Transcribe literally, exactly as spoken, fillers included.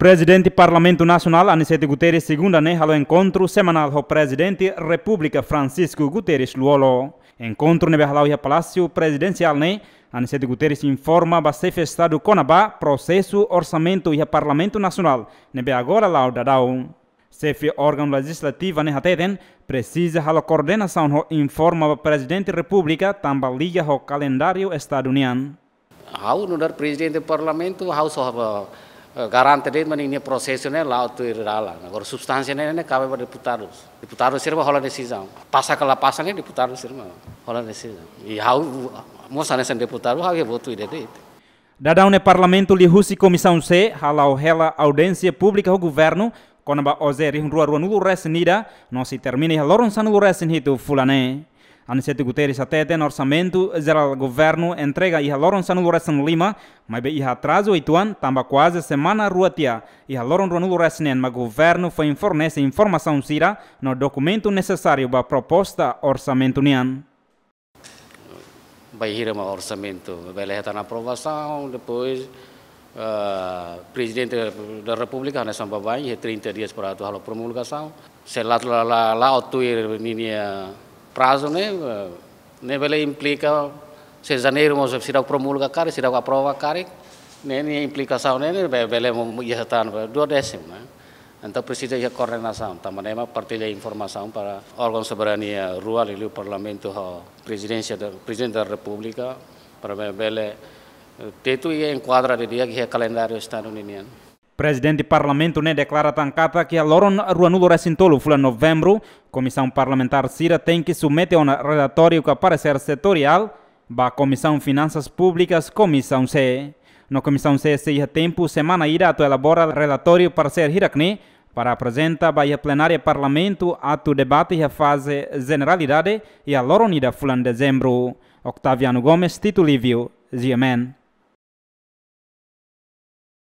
Prezidente Parlamentu Nasionál Aniceto Guterres segunda ne'e halo enkontru semanál ho Prezidente Repúblika Francisco Guterres Lú-Olo. Enkontru ne'ebé hala'o iha Palásiu Prezidensiál ne'e, Aniceto Guterres informa ba Xefe Estadu kona-ba prosesu orsamentu iha Parlamentu Nasionál ne'ebé agora la'o daudaun. Xefe órgaun lejizlativa ne'e hateten, presiza halo koordenasaun ho informa ba Prezidente Repúblika tanba liga ho kalendáriu Estadu nian. Ha'u nu'udar Prezidente Parlamentu, ha'u só, eh, garante de'it mak ninia prosesu ne'e la'o tuir dalan. Agora substánsia ne'e, ne'e kabe ba deputadus. Deputadus sira mak hola desizaun. Pasa ka la pasa ne'e deputadus sira mak hola desizaun. I ha'u mós hanesan deputadu, ha'u iha votu ida de'it. Daudaun ne'e Parlamentu liuhusi Komisaun C hala'o hela audiénsia públika ho governu kona-ba OJE rihun rua ruanulu-resin-ida, no sei termina iha loron sanulu-resin-hitu fulan ne'e. Aniceto Guterres hateten orsamentu jerál governu entrega iha loron sanulu-resin-lima, maibé iha atrazu uitoan tanba kuaze semana rua tiha iha loron ruanulu-resin-neen mak governu foin fornese informasaun sira no dokumentu nesesáriu ba proposta orsamentu nian. Bainhira mak orsamentu bele hetan aprovasaun, depois, eh, Prezidente da Repúblika hanesan baibain iha trinta dias para atu halo promulgasaun. Se la, la, la, la'o tuir ninia prazu ne'e, eh, ne'e bele implika, se Janeiru mós seidauk promulga karik, seidauk aprova karik, ne'e nia implikasaun ne'e, ne'e be-, bele mo-, iha tan duodésimu, ne'e. Entaun presiza iha koordenasaun, tanba ne'e mak partilla informasaun para órgaun soberania rua, liuliu Parlamentu ho Prezidénsia da, Prezidente da Repúblika, para be-, bele, eh, tetu i enkuadra didi'ak iha kalendáriu Estadu ninian. Prezidente Parlamentu ne'e deklara tan katak iha loron ruanulu-resin-tolu fulan Novembru, Komisaun Parlamentár sira tenke submete ona relatóriu ka paresér setoriál ba Komisaun Finansas Públikas, Komisaun C. No Komisaun C sei iha tempu semana ida atu elabora relatóriu paresér hirak ne'e para aprezenta ba iha plenária Parlamentu atu debate iha faze jeneralidade iha loron ida fulan Dezembru. Octaviano Gomes, Tito Lívio, G M N.